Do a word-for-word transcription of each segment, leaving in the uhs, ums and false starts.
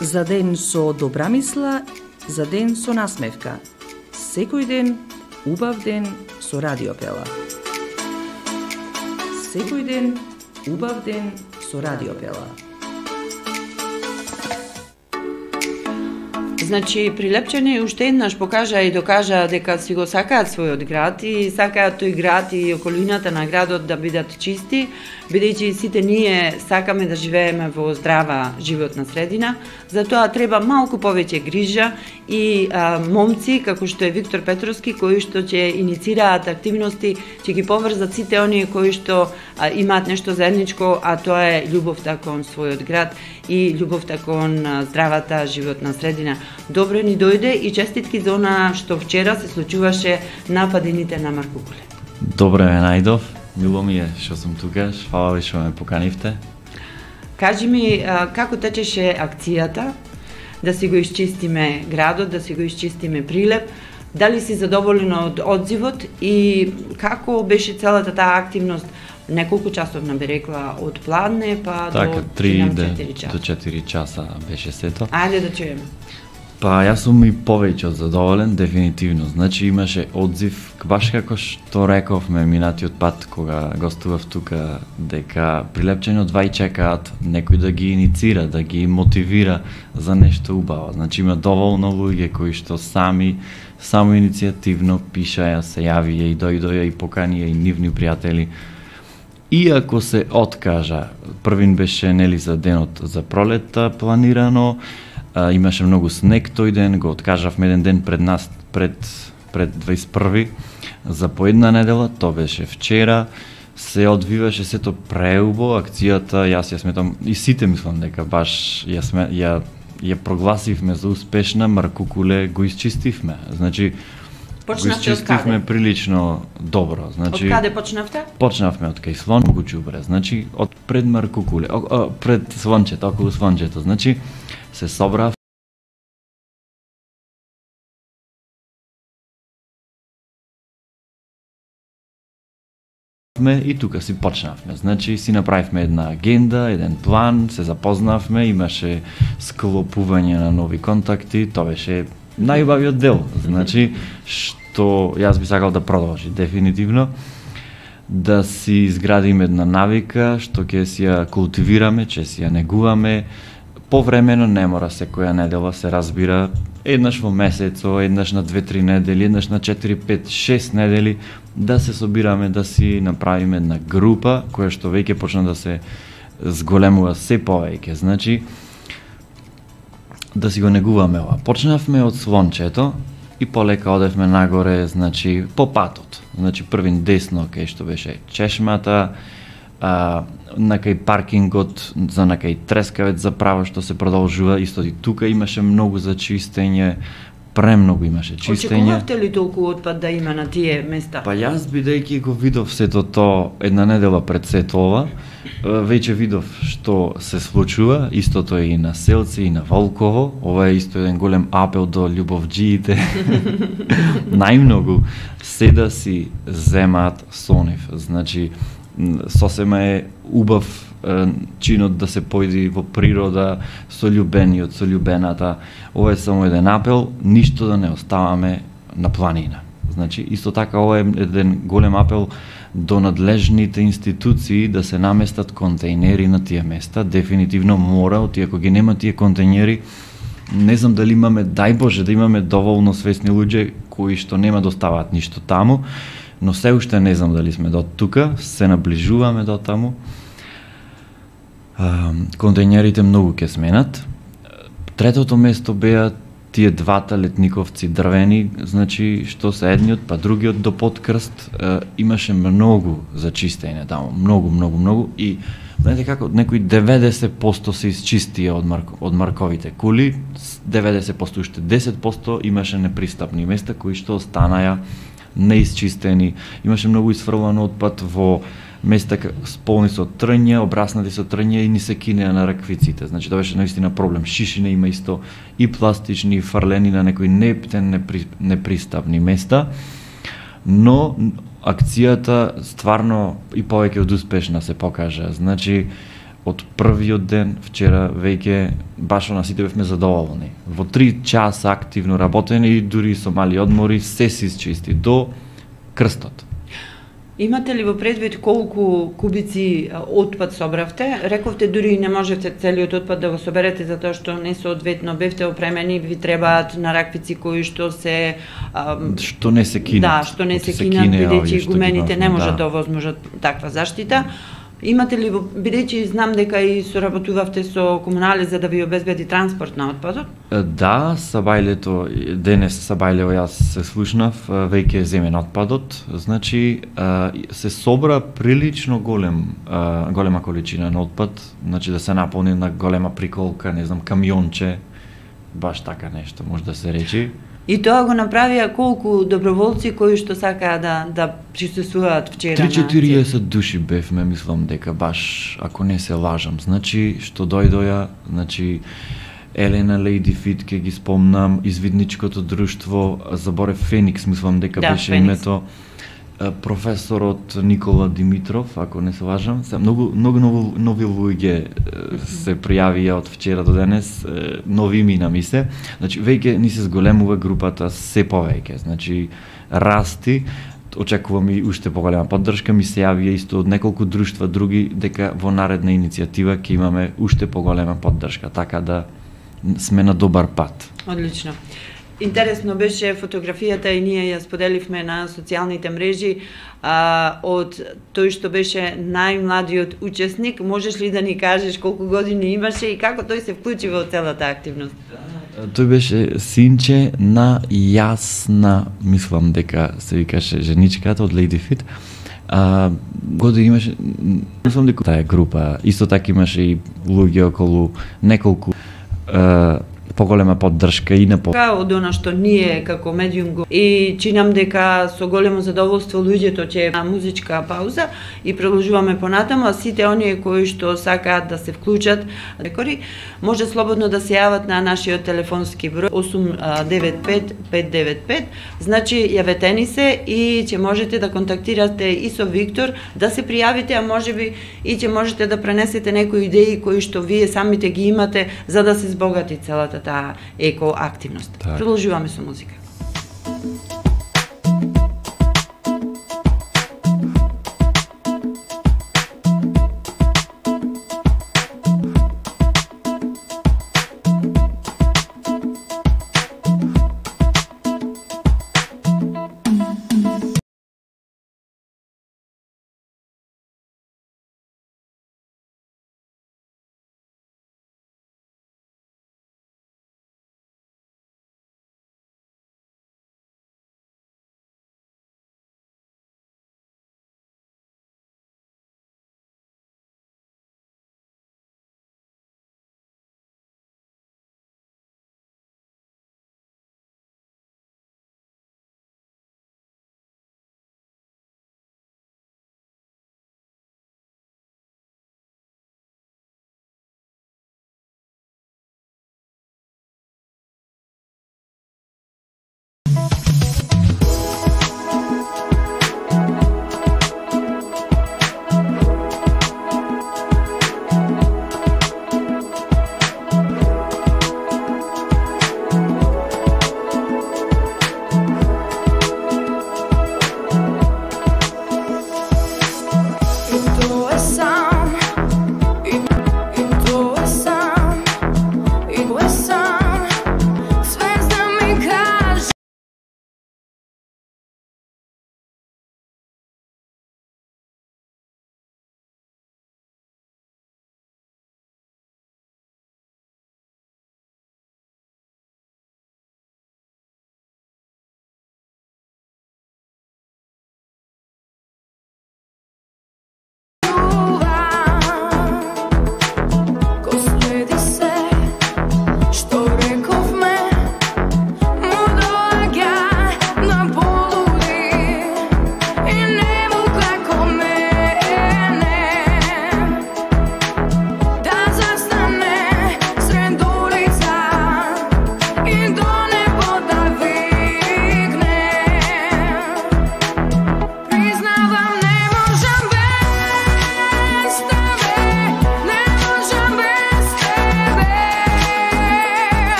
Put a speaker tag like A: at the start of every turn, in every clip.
A: За ден со добра мисла, за ден со насмевка. Секој ден, убав ден со Радиопела. Секој ден, убав ден со Радиопела.
B: Значи, Прилепчани уште еднаш покажа и докажа дека си го сакаат својот град и сакаат тој град и околината на градот да бидат чисти, бидејќи сите ние сакаме да живееме во здрава животна средина, затоа треба малку повеќе грижа и а, момци, како што е Виктор Петровски, кои што ќе иницираат активности, ќе ги поврзат сите оние кои што а, имаат нешто заедничко, а тоа е љубовта кон својот град и љубовта кон а, здравата животна средина. Добре ни дојде и честитки за она што вчера се случуваше на падините на Маркукуле.
C: Добре ме најдов, мило ми е што сум тука, фала ви што ме поканивте.
B: Кажи ми, а, како течеше акцијата, да си го исчистиме градот, да си го исчистиме Прилеп, дали си задоволен од одзивот и како беше целата таа активност? Неколку часовна би рекла, од пладне па
C: така,
B: до
C: три
B: до
C: четири часа беше сето.
B: Ајде да чуеме.
C: Па јас сум и повеќе од задоволен, дефинитивно. Значи имаше одзив, баш како што рековме минатиот пат кога гостував тука, дека Прилепчани одвај чекаат некој да ги иницира, да ги мотивира за нешто убаво. Значи има доволно луѓе кои што сами само иницијативно пишаја, се јавија и дојдоја и поканија и нивни пријатели. Иако се откажа, првин беше нели за денот за пролетта планирано, а, имаше многу снег тој ден, го откажавме еден ден пред нас, пред, пред дваесет и први за по една недела, тоа беше вчера, се одвиваше сето преубо, акцијата, јас ја сметам, и сите мислам дека баш ја, сме, ја, ја прогласивме за успешна, Маркукуле го исчистивме, значи,
B: Почнавте
C: го исчистивме прилично добро. Значи,
B: од каде почнавте?
C: Почнавме од кај Слон, многу џубре, значи од пред Маркукуле, о, о, пред Слончето, околу Слончето, значи се собрав и тука си почнавме. Значи си направивме една агенда, еден план, се запознавме, имаше склопување на нови контакти, тоа беше најубавиот дел. Значи што јас би сакал да продолжи дефинитивно, да си изградиме една навика што ќе си ја култивираме, ќе си ја негуваме. Повремено не мора секоја недела, се разбира, еднаш во месецо, еднаш на две-три недели, еднаш на четири, пет, шест недели, да се собираме, да си направиме една група, која што веќе почна да се зголемува се повеќе. Значи, да си го негуваме ова. Почнавме од Слончето и полека одевме нагоре, значи, по патот. Значи, првин десно, кај што беше чешмата, а, на кај паркингот, за на кај Трескавец за право што се продолжува, исто и тука имаше многу за чистење, премногу имаше чистење.
B: Очекувавте ли толку отпад да има на тие места?
C: Па јас бидејќи го видов сето тоа една недела пред сето ова, веќе видов што се случува, истото е и на Селци и на Волково, ова е исто еден голем апел до љубовџиите. Најмногу се да си земаат со нив, значи сосема е убав чинот да се појди во природа со љубениот, со љубената. Ова е само еден апел, ништо да не оставаме на планина. Значи, исто така ова е еден голем апел до надлежните институции да се наместат контејнери на тие места. Дефинитивно мора, оти ако ги нема тие контејнери, не знам дали имаме, дај Боже, да имаме доволно свесни луѓе кои што нема да оставаат ништо таму, но се уште не знам дали сме до тука, се наближуваме до таму. Контејнерите многу ќе сменат. Третото место беа тие двата летниковци дрвени, значи што се едниот па другиот до Подкрст, имаше многу за чистење таму, многу, многу, многу и знаете како некои деветдесет проценти се исчистија од марко, од марковите кули, деветдесет проценти уште десет проценти имаше непристапни места кои што останаја неисчистени. Имаше многу исфрлан отпад во места сполни со трња, обраснати со трња и ни се кинеа на раквиците. Значи тоа беше наистина проблем. Шишине има исто и пластични, и фрлени на некои нептен, непри, непристапни места. Но акцијата стварно и повеќе од успешна се покажа. Значи од првиот ден, вчера веќе баш на сите бевме задоволни. Во три часа активно работени и дури со мали одмори се се исчисти до крстот.
B: Имате ли во предвид колку кубици отпад собравте? Рековте дури не можете целиот отпад да го соберете затоа што не соодветно бевте опремени, ви требаат нараквици кои што се ам,
C: што не се кинат.
B: Да, што не се кинат, бидејќи гумените не можат да овозможат таква заштита. Имате ли, бидејќи знам дека и соработувавте со комунали за да ви обезбеди транспорт на отпадот?
C: Да, Сабајлето, денес Сабајлево јас се слушнав, веќе земен отпадот, значи се собра прилично голем, голема количина на отпад, значи да се наполни на голема приколка, не знам, камионче, баш така нешто може да се речи.
B: И тоа го направија колку доброволци кои што сакаа да да присуствуваат вчера на
C: три-четириесет души бевме, мислам дека баш, ако не се лажам. Значи, што дојдоја, значи, Елена Лејди Фит, ке ги спомнам, Извидничкото друштво, заборев Феникс, мислам дека
B: да,
C: беше
B: Феникс.
C: името, професорот Никола Димитров, ако не се лажам. Се, многу, многу нови, нови луѓе се пријавија од вчера до денес, нови имена ми се. Значи, веќе ни се зголемува групата се повеќе. Значи, расти, очекувам и уште поголема поддршка, ми се јавија исто од неколку друштва други, дека во наредна иницијатива ќе имаме уште поголема поддршка, така да сме на добар пат.
B: Одлично. Интересно беше фотографијата и ние ја споделивме на социјалните мрежи а, од тој што беше најмладиот учесник. Можеш ли да ни кажеш колку години имаше и како тој се вклучи во целата активност?
C: Тој беше синче на Јасна, мислам дека се викаше женичката од Lady Fit. А, години имаше, мислам дека таа група, исто така имаше и луѓе околу неколку а, поголема поддршка и на по...
B: Од она што ние како медиум го и чинам дека со големо задоволство луѓето ќе на музичка пауза и продолжуваме понатаму, а сите оние кои што сакаат да се вклучат, рекори, може слободно да се јават на нашиот телефонски број осум девет пет пет девет пет. Значи јавете ни се и ќе можете да контактирате и со Виктор, да се пријавите, а можеби и ќе можете да пренесете некои идеи кои што вие самите ги имате за да се збогати целата таа еко активност.
C: Так.
B: Продолжуваме со музика.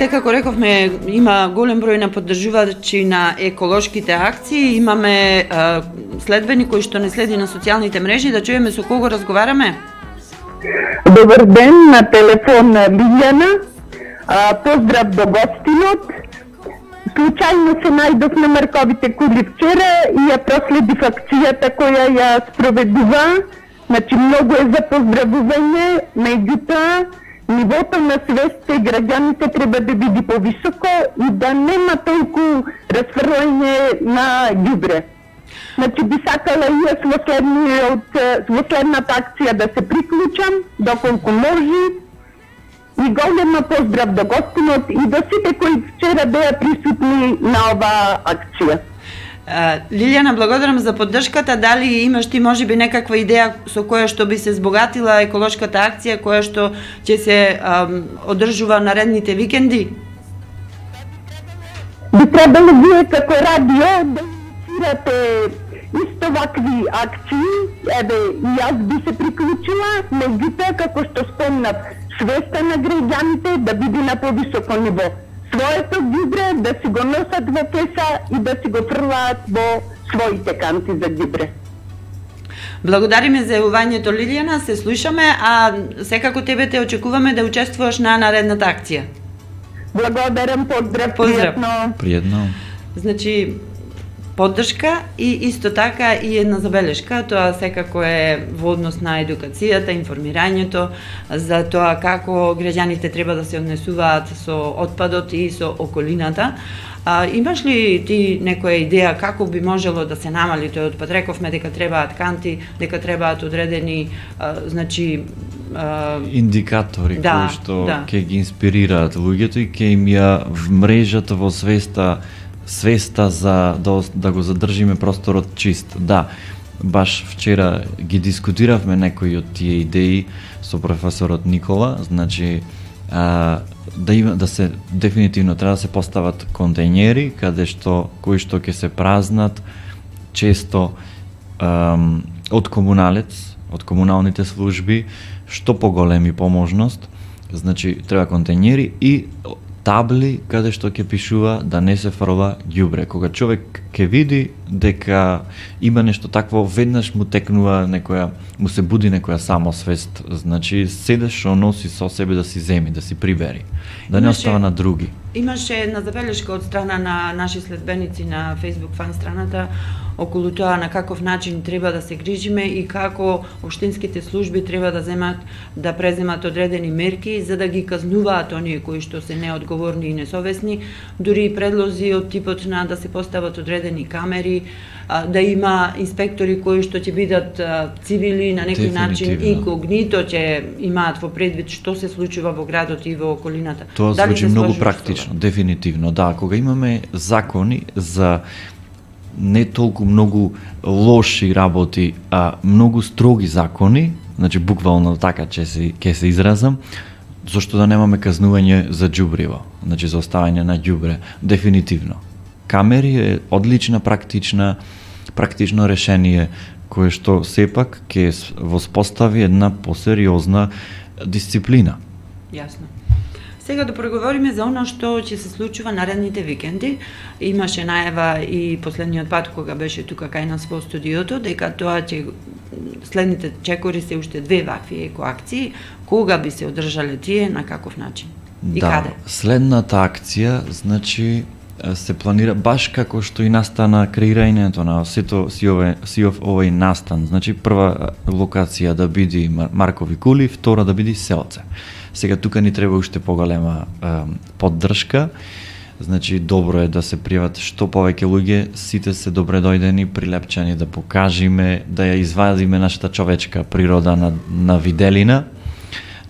B: секако рековме, има голем број на поддржувачи на еколошките акции, имаме а, следбени кои што не следи на социјалните мрежи, да чуеме со кого разговараме.
D: Добар ден, на телефон Лилјана. А, поздрав до гостинот. Случајно се најдов на Марковите кули вчера и ја проследив акцијата која ја спроведува. Значи, многу е за поздравување, меѓутоа, нивото на свест и граѓаните треба да биде повисоко и да нема толку расфрлање на ѓубре. Значи, би сакала и јас во следниот, во следната акција да се приклучам, доколку може. И голема поздрав до гостинот и до сите кои вчера беа присутни на оваа акција.
B: Лилјана, благодарам за поддршката. Дали имаш ти можеби некаква идеја со која што би се збогатила еколошката акција, која што ќе се ам, одржува наредните викенди?
D: Би требало вие како радио да инициирате исто вакви акции. Еве, и јас би се приклучила, меѓутоа, како што спомнав, свеста на граѓаните да биде на повисоко ниво. Своето ѓубре да си го носат во кеса и да си го фрлаат во своите канти за ѓубре.
B: Благодариме за јавувањето, Лилјана, се слушаме, а секако тебе те очекуваме да учествуваш на наредната акција.
D: Благодарам, поздрав,
B: поздрав.
D: пријатно.
C: Пријатно.
B: Значи, поддршка и исто така и една забелешка, тоа секако е во однос на едукацијата, информирањето за тоа како граѓаните треба да се однесуваат со отпадот и со околината. А, имаш ли ти некоја идеја како би можело да се намали тој отпад? Рековме дека требаат канти, дека требаат одредени, а, значи, а...
C: индикатори
B: да,
C: кои што
B: да.
C: ќе ги инспирираат луѓето и ќе им ја вмрежат во свеста свеста за да, да го задржиме просторот чист. Да, баш вчера ги дискутиравме некои од тие идеи со професорот Никола, значи а, да има да се дефинитивно треба да се постават контејнери каде што кои што ќе се празнат често ам, од комуналец, од комуналните служби, што поголеми поможност, значи треба контејнери и табли каде што ќе пишува да не се фрла ѓубре. Кога човек ќе види дека има нешто такво, веднаш му текнува некоја, му се буди некоја самосвест, значи седе што носи со себе да си земи, да си прибери, да не
B: Имаше...
C: остава на други.
B: Имаше една забелешка од страна на наши следбеници на Facebook фан страната околу тоа на каков начин треба да се грижиме и како општинските служби треба да земат да преземат одредени мерки за да ги казнуваат оние кои што се неодговорни и несовесни, дури и предлози од типот на да се постават одредени камери, да има инспектори кои што ќе бидат цивили на некој начин и когнито ќе имаат во предвид што се случува во градот и во околината.
C: Тоа звучи многу практично, дефинитивно. Да, кога имаме закони за не толку многу лоши работи, а многу строги закони, значи буквално така ќе се ќе се изразам, зашто да немаме казнување за ѓубриво, значи за оставање на ѓубре, дефинитивно. Камери е одлична практична практично решение кое што сепак ќе воспостави една посериозна дисциплина.
B: Јасно. Сега да проговориме за оно што ќе се случува наредните викенди. Имаше најава и последниот пат кога беше тука кај нас во студиото дека тоа ќе следните чекори се уште две вакви екоакции. Кога би се одржале тие, на каков начин и
C: да,
B: каде?
C: Следната акција, значи се планира баш како што и настана креирањето на сето си овој си овој настан. Значи прва локација да биде Маркови кули, втора да биде Селце. Сега тука ни треба уште поголема е, поддршка. Значи добро е да се пријават што повеќе луѓе, сите се добре дојдени, прилепчани да покажиме, да ја извадиме нашата човечка природа на, на виделина.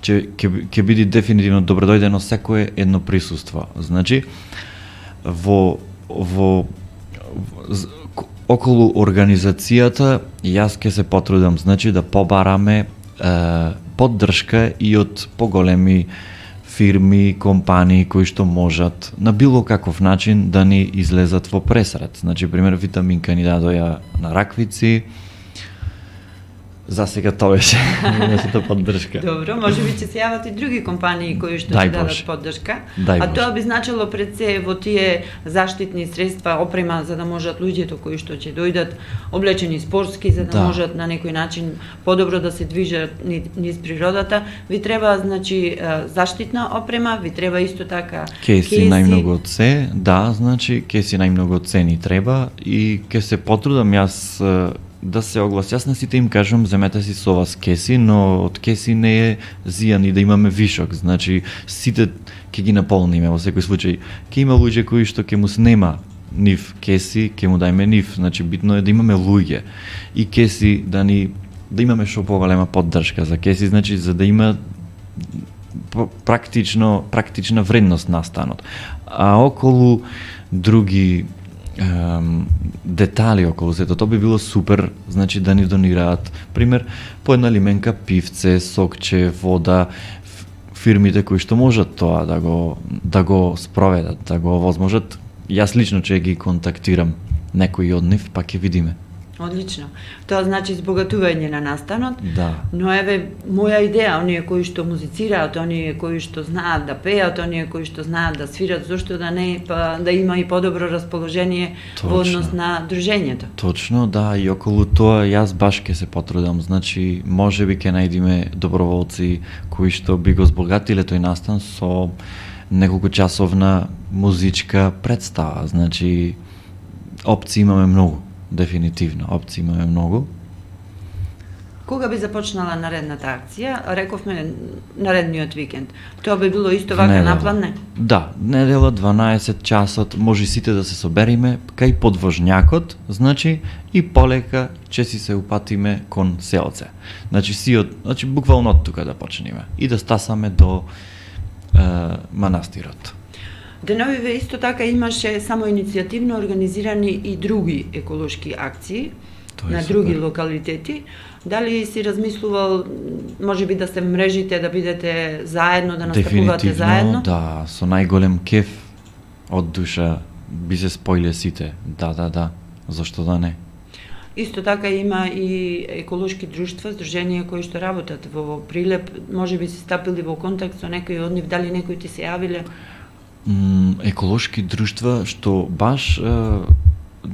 C: Че ќе ќе биде дефинитивно добро дојдено секое едно присуство. Значи во во, во околу организацијата јас ќе се потрудам, значи да побараме е, поддршка и од поголеми фирми, компании кои што можат на било каков начин да ни излезат во пресред. Значи, пример, Витаминка ни дадоја на раквици, За сега тоа беше нашата поддршка.
B: Добро, може би ќе се јават и други компании кои што
C: Дај
B: ќе дадат
C: Боже.
B: поддршка.
C: Дај
B: А
C: Боже.
B: тоа би значило пред се во тие заштитни средства, опрема за да можат луѓето кои што ќе дојдат облечени спортски за да,
C: Да.
B: можат на некој начин подобро да се движат ни- низ природата, ви треба значи е, заштитна опрема, ви треба исто така
C: Кеси најмногу од се, да, значи кеси најмногу од се ни треба и ќе се потрудам јас е, да се огласи. Јас на сите им кажам, земете си со вас кеси, но од кеси не е зијан и да имаме вишок. Значи, сите ќе ги наполниме во секој случај. Ќе има луѓе кои што ќе му снема нив кеси, ќе му дајме нив. Значи, битно е да имаме луѓе и кеси да ни да имаме што поголема поддршка за кеси, значи за да има практично практична вредност на станот. А околу други ем, детали околу сето, тоа би било супер, значи да ни донираат, пример, по една лименка пивце, сокче, вода, ф- фирмите кои што можат тоа да го да го спроведат, да го овозможат. Јас лично ќе ги контактирам некои од нив, па ќе видиме.
B: Одлично. Тоа значи збогатување на настанот.
C: Да.
B: Но еве моја идеја, оние кои што музицираат, оние кои што знаат да пеат, оние кои што знаат да свират, зошто да не, па да има и подобро расположение во
C: Точно.
B: однос на дружењето.
C: Точно, да, и околу тоа јас баш ќе се потрудам, значи можеби ќе најдеме доброволци кои што би го збогатиле тој настан со неколку часовна музичка представа, значи опции имаме многу, дефинитивно, опции имаме многу.
B: Кога би започнала наредната акција? Рековме наредниот викенд. Тоа би било исто вака
C: Недела.
B: наплан, не?
C: Да, недела дванаесет часот, може сите да се собериме кај подвожњакот, значи и полека ќе си се упатиме кон селце. Значи си од, значи буквално од тука да почнеме и да стасаме до е, манастирот.
B: Деновиве исто така имаше само иницијативно организирани и други еколошки акции
C: Тоа е
B: на
C: супер.
B: други локалитети. Дали си размислувал, може би да се мрежите, да бидете заедно, да настапувате заедно?
C: Да, со најголем кеф од душа би се споиле сите. Да, да, да. Зошто да не?
B: Исто така има и еколошки друштва, здруженија кои што работат во Прилеп. Може би си стапили во контакт со некои од нив, дали некои ти се јавиле?
C: М, еколошки друштва што баш е,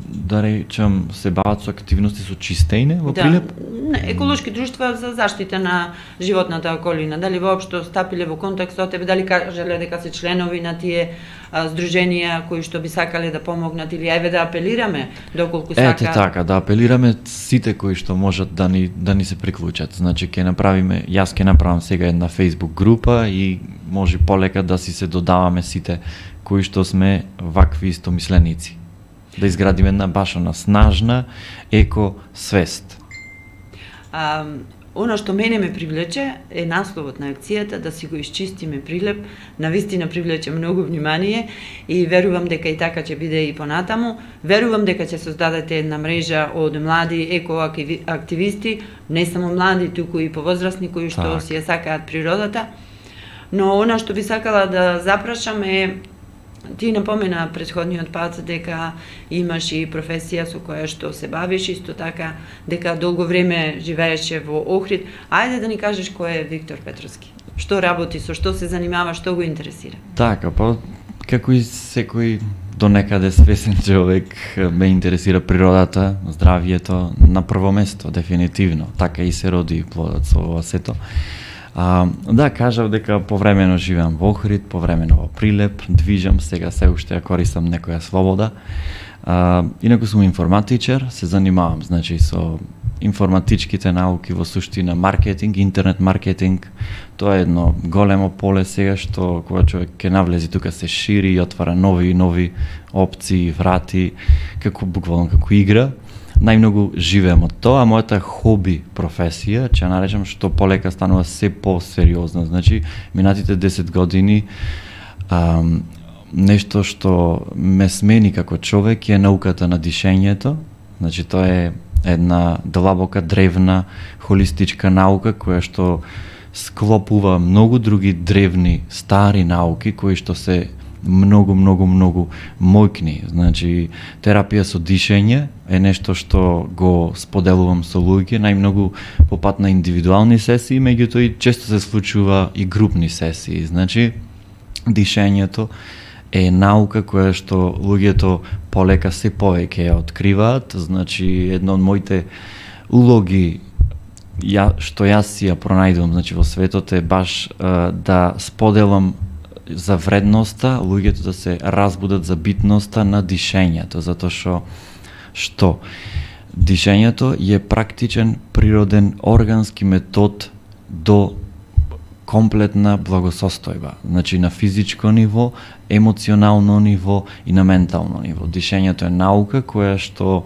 C: да речам се бават со активности со чистење во Прилеп?
B: Не, еколошки друштва за заштита на животната околина. Дали воопшто стапиле во контакт со тебе, дали кажале дека се членови на тие а, здруженија кои што би сакале да помогнат или еве да апелираме доколку сака.
C: Ете така, да апелираме сите кои што можат да ни да ни се приклучат. Значи ќе направиме, јас ќе направам сега една Facebook група и може полека да си се додаваме сите кои што сме вакви истомисленици. Да изградиме една баш она снажна еко свест.
B: А, Оно што мене ме привлече е насловот на акцијата, да си го исчистиме Прилеп, навистина привлече многу внимание и верувам дека и така ќе биде и понатаму. Верувам дека ќе создадете една мрежа од млади екоактивисти, не само млади, туку и повозрасни кои што
C: Так.
B: си ја сакаат природата. Но она што би сакала да запрашам е, ти напомена претходниот пат дека имаш и професија со која што се бавиш, исто така дека долго време живееше во Охрид. Ајде да ни кажеш кој е Виктор Петровски. Што работи, со што се занимава, што го интересира?
C: Така, па како и секој до некаде свесен човек ме интересира природата, здравието на прво место, дефинитивно. Така и се роди плодот со ова сето. А, да, кажав дека повремено живеам во Охрид, повремено во Прилеп, движам, сега се уште ја користам некоја слобода. А, инаку сум информатичар, се занимавам, значи, со информатичките науки во суштина маркетинг, интернет маркетинг. Тоа е едно големо поле сега што кога човек ќе навлези тука се шири и отвара нови и нови опции, врати, како буквално како игра. Најмногу живеам од тоа, а мојата хоби професија, ќе ја наречам, што полека станува се посериозна. Значи, минатите десет години ам, нешто што ме смени како човек е науката на дишењето. Значи, тоа е една длабока, древна, холистичка наука која што склопува многу други древни, стари науки кои што се многу, многу, многу мојкни. Значи, терапија со дишење е нешто што го споделувам со луѓе, најмногу по пат на индивидуални сесии, меѓутоа и често се случува и групни сесии. Значи, дишењето е наука која што луѓето полека се повеќе ја откриваат. Значи, едно од моите улоги ја, што јас си ја пронајдувам, значи, во светот е баш а, да споделам за вредноста, луѓето да се разбудат за битноста на дишењето, затоа што што дишењето е практичен, природен, органски метод до комплетна благосостојба, значи на физичко ниво, емоционално ниво и на ментално ниво. Дишењето е наука која што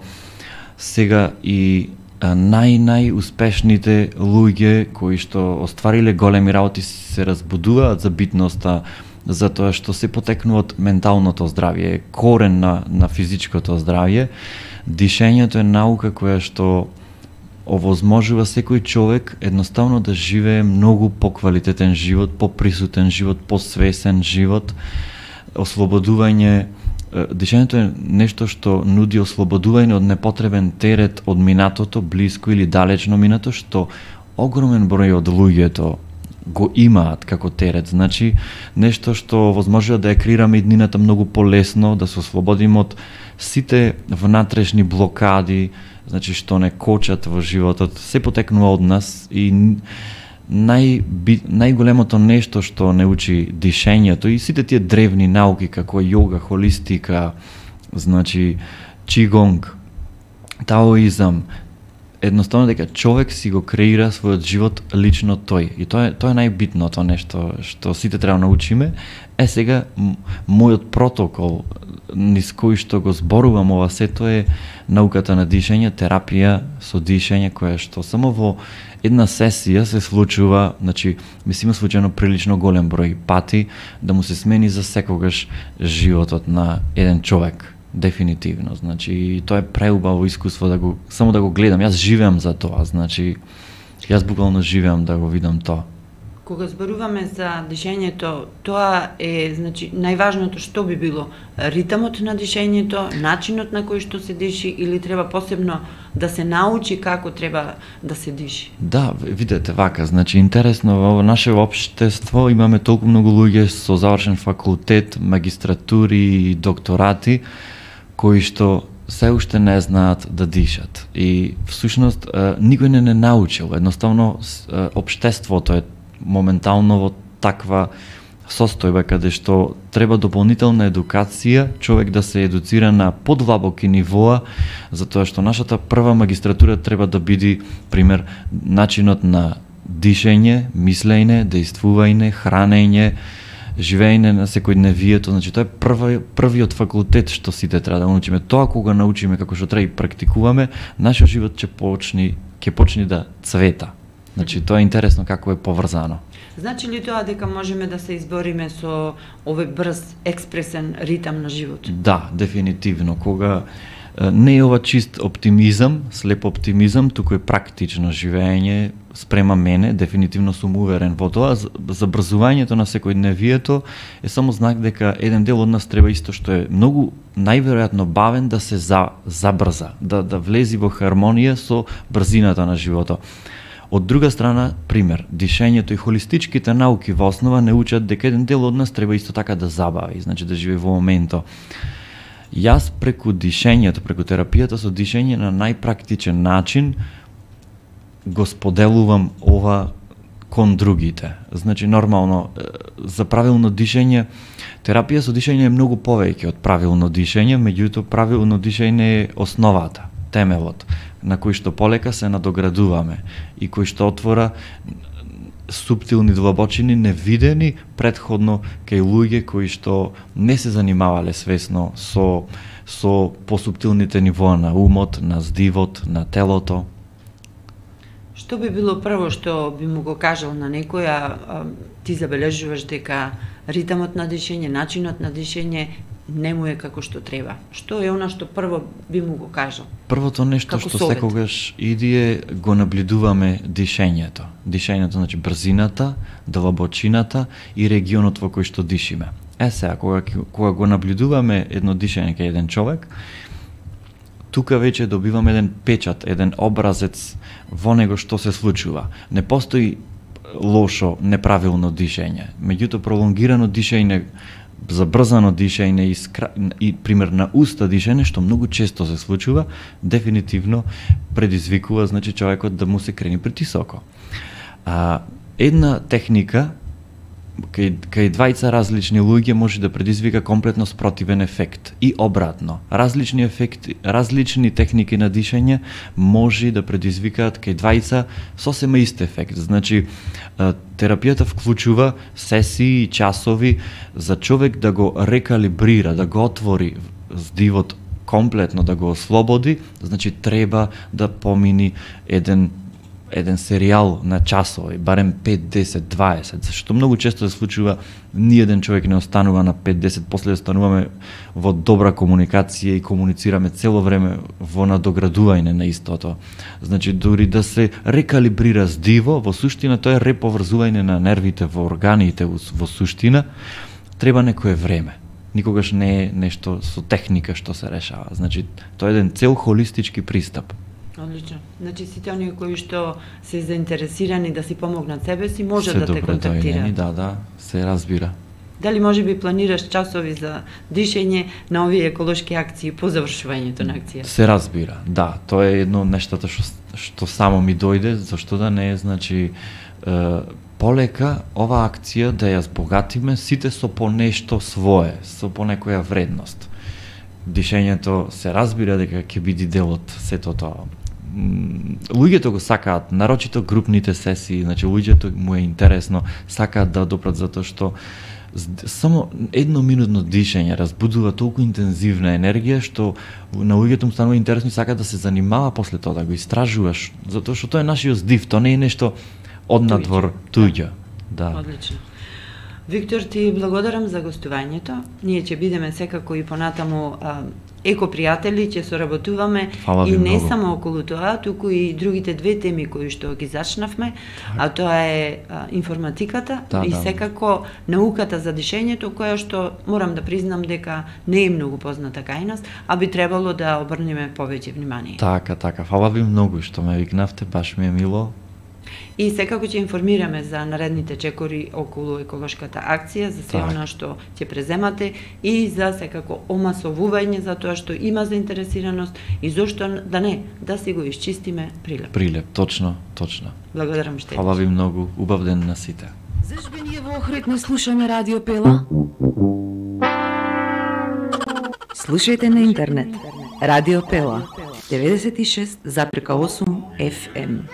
C: сега и нај-најуспешните луѓе кои што оствариле големи работи се разбудуваат за битноста, затоа што се потекнува од менталното здравје, корен на, на физичкото здравје. Дишењето е наука која што овозможува секој човек едноставно да живее многу поквалитетен живот, поприсутен живот, посвесен живот, ослободување. Дишењето е нешто што нуди ослободување од непотребен терет од минатото, блиско или далечно минато, што огромен број од луѓето го имаат како терет. Значи, нешто што возможува да ја креираме иднината многу полесно, да се ослободиме од сите внатрешни блокади, значи што не кочат во животот, се потекнува од нас и нај, најголемото нешто што не учи дишењето и сите тие древни науки како јога, холистика, значи чигонг, таоизам, едноставно дека човек си го креира својот живот лично тој. И тоа е, тоа е најбитното нешто што сите треба да научиме. Е сега мојот протокол низ кој што го зборувам ова сето е науката на дишење, терапија со дишење, која што само во една сесија се случува, значи мислиме случајно прилично голем број пати да му се смени за секогаш животот на еден човек. Дефинитивно, значи тоа е преубаво искуство да го само да го гледам. Јас живеам за тоа, значи јас буквално живеам да го видам тоа.
B: Кога зборуваме за дишењето, тоа е, значи, најважното што би било ритмот на дишењето, начинот на кој што се диши или треба посебно да се научи како треба да се диши?
C: Да, видете вака, значи интересно во наше општество имаме толку многу луѓе со завршен факултет, магистратури и докторати кои што се уште не знаат да дишат. И всушност никој не не научил, едноставно општеството е моментално во таква состојба каде што треба дополнителна едукација, човек да се едуцира на подлабоки нивоа, затоа што нашата прва магистратура треба да биде пример начинот на дишење, мислење, действување, хранење, живеење на секојдневието, значи тоа е прва, првиот факултет што сите треба да научиме. Тоа кога научиме како што треба и практикуваме, нашиот живот ќе почне ќе почне да цвета. Значи тоа е интересно како е поврзано.
B: Значи ли тоа дека можеме да се избориме со овој брз експресен ритам на живот?
C: Да, дефинитивно. Кога не е ова чист оптимизам, слеп оптимизам, туку е практично живење спрема мене, дефинитивно сум уверен во тоа. Забрзувањето на секојдневието е само знак дека еден дел од нас треба исто што е многу најверојатно бавен да се за, забрза, да, да влези во хармонија со брзината на животот. Од друга страна, пример, дишењето и холистичките науки во основа не учат дека еден дел од нас треба исто така да забави, значи да живее во моментот. Јас преку дишењето, преку терапијата со дишење на најпрактичен начин го споделувам ова кон другите. Значи нормално за правилно дишење, терапија со дишење е многу повеќе од правилно дишење, меѓутоа правилно дишење е основата, темелот на кој што полека се надоградуваме и кој што отвора суптилни длабочини невидени претходно кај луѓе кои што не се занимавале свесно со со посуптилните нивоа на умот, на здивот, на телото.
B: Што би било прво што би му го кажал на некој, а ти забележуваш дека ритмот на дишење, начинот на дишење не му е како што треба? Што е она што прво би му го кажал?
C: Првото нешто
B: како
C: што
B: совет?
C: секогаш иди е го наблюдуваме дишењето. Дишењето значи брзината, длабочината и регионот во кој што дишиме. Е сега, кога, кога го наблюдуваме едно дишење кај еден човек, тука веќе добиваме еден печат, еден образец во него што се случува. Не постои лошо, неправилно дишење. Меѓутоа, пролонгирано дишење, забрзано дишење и, скра... и пример на уста дишење, што многу често се случува, дефинитивно предизвикува, значи, човекот да му се крени притисоко. А, една техника кај, кај двајца различни луѓе може да предизвика комплетно спротивен ефект и обратно. Различни ефекти, различни техники на дишење може да предизвикаат кај двајца сосема ист ефект. Значи, терапијата вклучува сесии и часови за човек да го рекалибрира, да го отвори здивот комплетно, да го ослободи. Значи, треба да помини еден еден серијал на часови, барем пет, десет, дваесет, зашто многу често се случува ниеден човек не останува на пет, десет, после остануваме во добра комуникација и комуницираме цело време во надоградување на истото. Значи, дури да се рекалибрира здиво, во суштина тоа е реповрзување на нервите во органите во суштина, треба некое време. Никогаш не е нешто со техника што се решава. Значи, тоа е еден цел холистички пристап.
B: Одлично. Значи, сите оние кои што се заинтересирани да си помогнат себе си, може да те контактираат.
C: Да, да, се разбира.
B: Дали може би планираш часови за дишење на овие еколошки акции по завршувањето на акција?
C: Се разбира, да. Тоа е едно од нештата што, што само ми дојде, зашто да не е, значи, е, полека ова акција да ја збогатиме сите со по нешто свое, со по некоја вредност. Дишењето се разбира дека ќе биде дел од сето тоа. Луѓето го сакаат, нарочито групните сесии, значи луѓето му е интересно, сакаат да допрат затоа што само едноминутно дишење разбудува толку интензивна енергија што на луѓето му станува интересно и сакаат да се занимава после тоа, да го истражуваш, затоа што тоа е нашиот здив, тоа не е нешто однадвор туѓо. Да.
B: Одлично. Виктор, ти благодарам за гостувањето. Ние ќе бидеме секако и понатаму а, екопријатели, ќе соработуваме и не
C: многу.
B: само околу тоа, туку и другите две теми кои што ги зачнавме, а тоа е а, информатиката
C: да,
B: и
C: да.
B: секако науката за дишењето, која што морам да признам дека не е многу позната кај нас, а би требало да обрнеме повеќе внимание.
C: Така, така. Фала ви многу што ме викнавте, баш ми е мило.
B: И секако ќе информираме за наредните чекори околу еколошката акција, за се она што ќе преземате и за секако омасовување за тоа што има заинтересираност и зошто да не, да си го исчистиме прилеп.
C: Прилеп, точно, точно.
B: Благодарам што.
C: Фала ви многу, убав ден на сите.
E: Зашто ние во Охрид не слушаме Радио Пела?
A: Слушајте на интернет. Радио Пела деведесет и шест запирка осум еф ем.